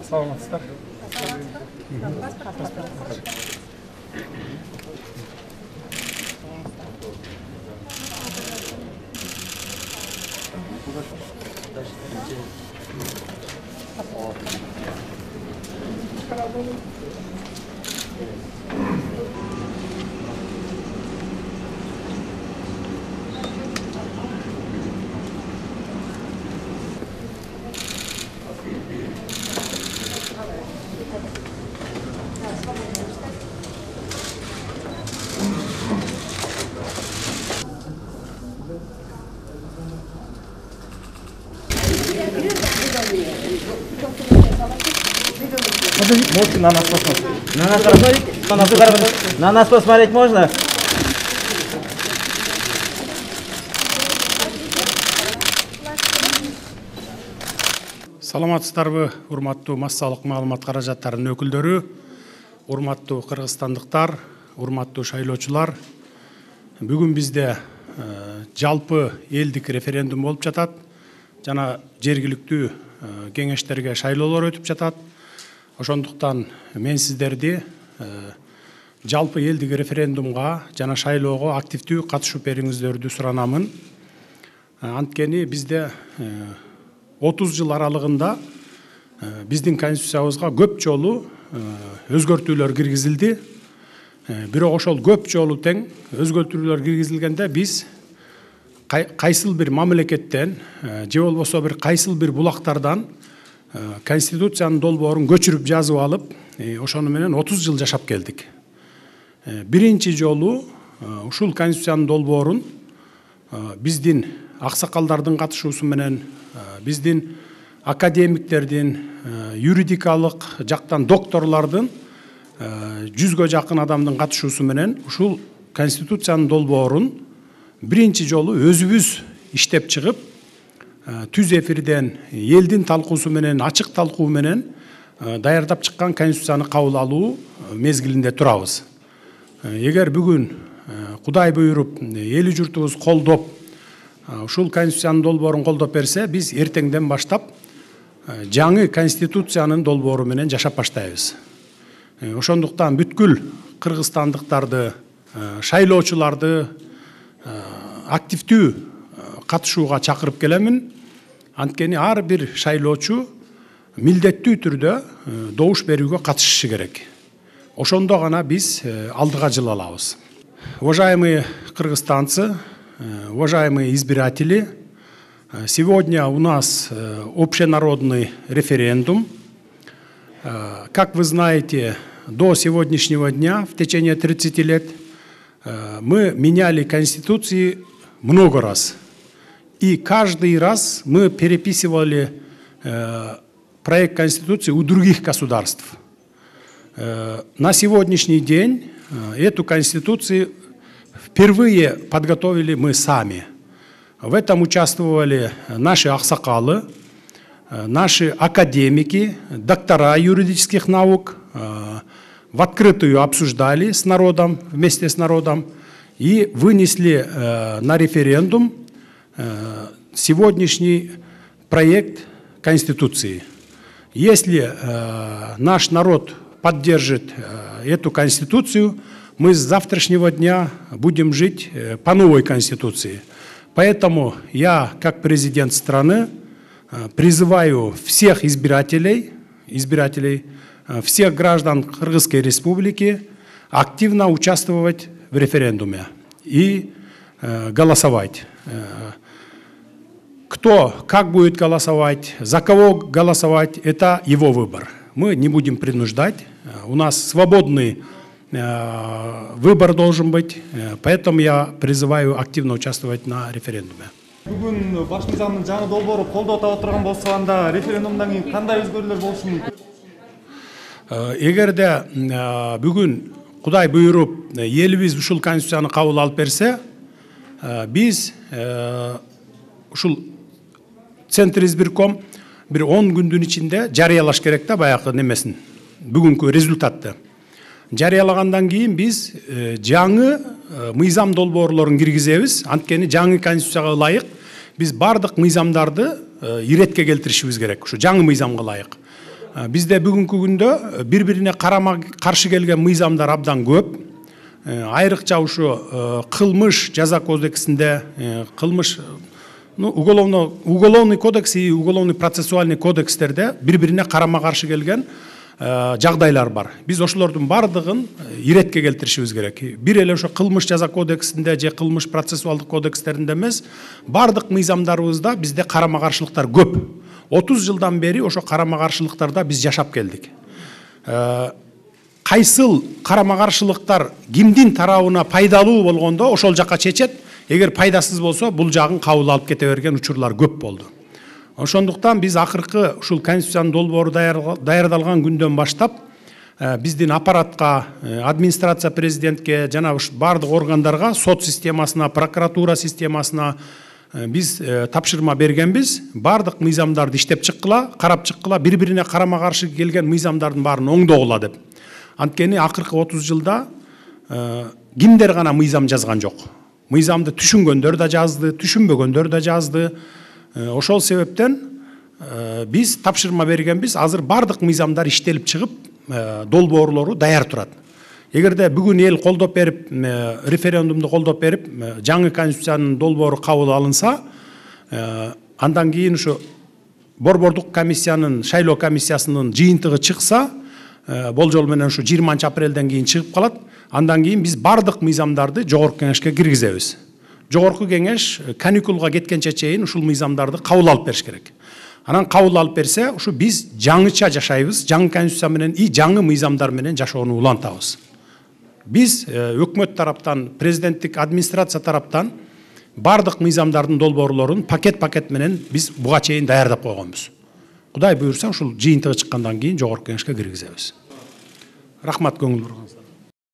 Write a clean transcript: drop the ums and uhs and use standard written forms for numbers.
Саламатсыздар. Можете на нас посмотреть? На нас посмотреть? На нас посмотреть можно? Саламатсыздарбы, урматтуу массалык маалымат каражаттарынын өкүлдөрү, урматтуу кыргызстандыктар, урматтуу шайлоочулар. Бүгүн бизде жалпы элдик референдум болуп жатат. Жана жергиликтүү кеңештерге шайлоолор өтүп жатат. Ошондуктан мен сиздерди жалпы элдик референдумга жана шайлоого активдүү катышып бериңиздерди суранамын. Анткени бизде 30 жыл аралыгында биздин конституциябызга көп жолу өзгөртүүлөр киргизилди. Бирок ошол көп жолу тең өзгөртүүлөр киргизилгенде биз кайсыл бир мамлекеттен же болбосо бир кайсыл бир булактардан конституциянын долбоорун көчүрүп жазып алып, ошону менен 30 жыл жашап келдик. Биринчи жолу ушул конституциянын долбоорун биздин аксакалдардын катышуусу менен, биздин академиктердин, юридикалык жактан докторлордун 100гө жакын адамдын катышуусу менен ушул конституциянын долбоорун биринчи жолу өзүбүз иштеп чыгып, түз эфирден элдин талкуусу менен, ачык талкуу менен даярдап чыккан конституцияны кабыл алуу мезгилинде турабыз. Эгер бүгүн Кудай буйруп эли журтубуз колдоп, ушул конституциянын долбоорун колдоп берсе, биз эртеңден баштап жаңы конституциянын долбоору менен жашап баштайбыз. Ошондуктан бүткүл кыргызстандыктарды, шайлоочуларды активдүү катышууга чакырып келемин. Анткени ар бир шайлоочу милдеттүү түрдө добуш берүүгө катышышы керек. Ошондо гана биз алдыга жыла алабыз. Уважаемые кыргызстанцы, уважаемые избиратели, сегодня у нас общенародный референдум. Как вы знаете, до сегодняшнего дня, в течение 30 лет, мы меняли конституции много раз. И каждый раз мы переписывали проект конституции у других государств. На сегодняшний день эту конституцию впервые подготовили мы сами. В этом участвовали наши аксакалы, наши академики, доктора юридических наук. В открытую обсуждали с народом, вместе с народом, и вынесли на референдум сегодняшний проект Конституции. Если наш народ поддержит эту Конституцию, мы с завтрашнего дня будем жить по новой Конституции. Поэтому я, как президент страны, призываю всех избирателей, всех граждан Кыргызской Республики активно участвовать в референдуме и голосовать. Кто как будет голосовать, за кого голосовать, это его выбор. Мы не будем принуждать. У нас свободный выбор должен быть, поэтому я призываю активно участвовать на референдуме. Бүгүн баш мыйзамдын жаңы долбоору колдоо таап турган болсо, анда референдумдан кийин кандай өзгөрүүлөр болушу мүмкүн? Эгерде бүгүн Кудай буйруп элибиз ушул конституцияны кабыл алып берсе, биз ушул Центр избирком бир 10 күндүн ичинде жарыялаш керек да баягы немесин, бүгүнкү результатты. Жарыялагандан кийин биз жаңы мыйзам долбоорлорун киргизебиз. Анткени жаңы конституцияга ылайык биз бардык мыйзамдарды иретке келтиришибиз керек, ушу жаңы мыйзамга ылайык. Бизде бүгүнкү күндө бири-бирине карама каршы келген мыйзамдар абдан көп. Айрыкча ушу кылмыш жаза кодексинде, кылмыш уголовный кодекс и уголовный процессуальный кодекстерде бири-бирине карама каршы келген жагдайлар бар. Биз ошолордун бардыгын иретке келтиришибиз керек. Бир эле ошо кылмыш жаза кодексинде же кылмыш процессуалдык кодекстеринде эмес, бардык мыйзамдарыбызда бизде карама каршылыктар көп. 30 жылдан бери ошо карама каршылыктарда биз жашап келдик. Кайсыл карама каршылыктар кимдин тарабына пайдалуу болгондо ошол жакка чечет. Эгер пайдасыз болсо, бул жагын кабыл алып кете берген учурлар көп болду. Ошондуктан биз акыркы ушул конституциянын долбоору даярдалган күндөн баштап биздин аппаратка, администрация президентке, жана бардык органдарга, сот системасына, прокуратура системасына биз тапшырма бергенбиз. Бардык мыйзамдарды иштеп чыккыла, карап чыккыла, бири-бирине карама каршы келген мыйзамдардын баарын оңдогула деп. Анткени акыркы 30 жылда кимдер гана мыйзам жазган жок. Мыйзамды түшүнгөндөр да жазды, түшүнбөгөндөр да жазды. Ошол себептен биз тапшырма бергенбиз. Азыр бардык мыйзамдар иштелип чыгып, долбоорлору даяр турат. Эгерде бүгүн эл колдоп берип, референдумду колдоп берип, жаңы конституциянын долбоору кабыл алынса, андан кийин ушу борбордук комиссиянын, шайлоо комиссиясынын жыйынтыгы чыкса, болжол менен ушу 20 апрелден кийин чыгып калат. Андан кийин биз бардык мыйзамдарды жогорку кеңешке киргизебиз. Жогорку кеңеш каникулга кеткенче чейин ушул мыйзамдарды кабыл алып бериш керек. Анан кабыл алып берсе, ушу биз жаңыча жашайбыз, жаңы конституция менен и жаңы мыйзамдар менен жашоону улантабыз. Биз өкмөт тараптан, президенттик администрация тараптан бардык мыйзамдардын долбоорлорун пакет менен биз буга чейин даярдап койгонбуз. Кудай буйрса, ушул жыйынтыгы чыккандан кийин жогорку кеңешке киргизебиз. Рахмат көңүл бурганыңызга.